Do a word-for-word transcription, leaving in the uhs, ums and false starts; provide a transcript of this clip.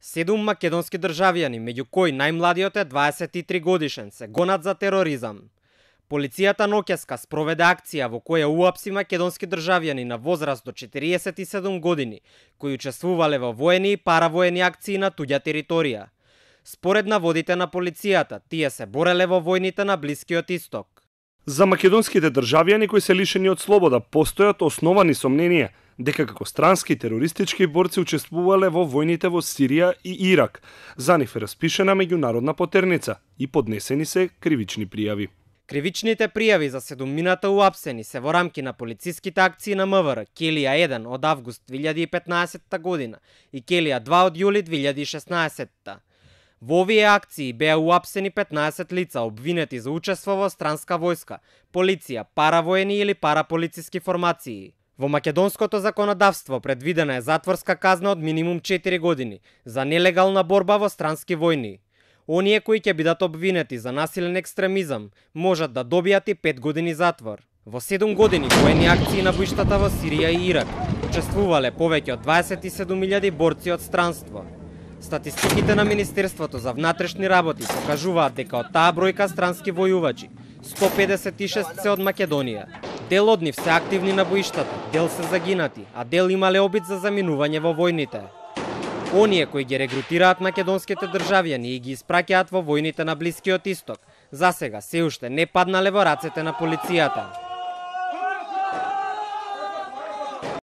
Седум македонски државјани, меѓу кои најмладиот е дваесет и три годишен, се гонат за тероризам. Полицијата ноќеска спроведе акција во која уапси македонски државјани на возраст до четириесет и седум години, кои учествувале во воени и паравоени акции на туѓа територија. Според наводите на полицијата, тие се бореле во војните на Блискиот Исток. За македонските државјани кои се лишени од слобода постојат основани сомненија дека како странски терористички борци учествувале во војните во Сирија и Ирак. За нив е распишена меѓународна потерница и поднесени се кривични пријави. Кривичните пријави за седумината уапсени се во рамки на полициските акции на МВР Келија еден од август две илјади и петнаесетта година и Келија два од јули две илјади и шеснаесетта. Во овие акции беа уапсени петнаесет лица обвинети за учество во странска војска, полиција, паравоени или параполициски формации. Во македонското законодавство предвидена е затворска казна од минимум четири години за нелегална борба во странски војни. Оние кои ќе бидат обвинети за насилен екстремизам можат да добијат и пет години затвор. Во седум години воени акции на боиштата во Сирија и Ирак учествувале повеќе од дваесет и седум илјади борци од странство. Статистиките на Министерството за внатрешни работи покажуваат дека од таа бројка странски војувачи сто педесет и шест се од Македонија. Дел од нив се активни на боиштата, дел се загинати, а дел имале обид за заминување во војните. Оние кои ги регрутираат македонските државјани и ги испраќаат во војните на Блискиот Исток, засега се уште не паднале во рацете на полицијата.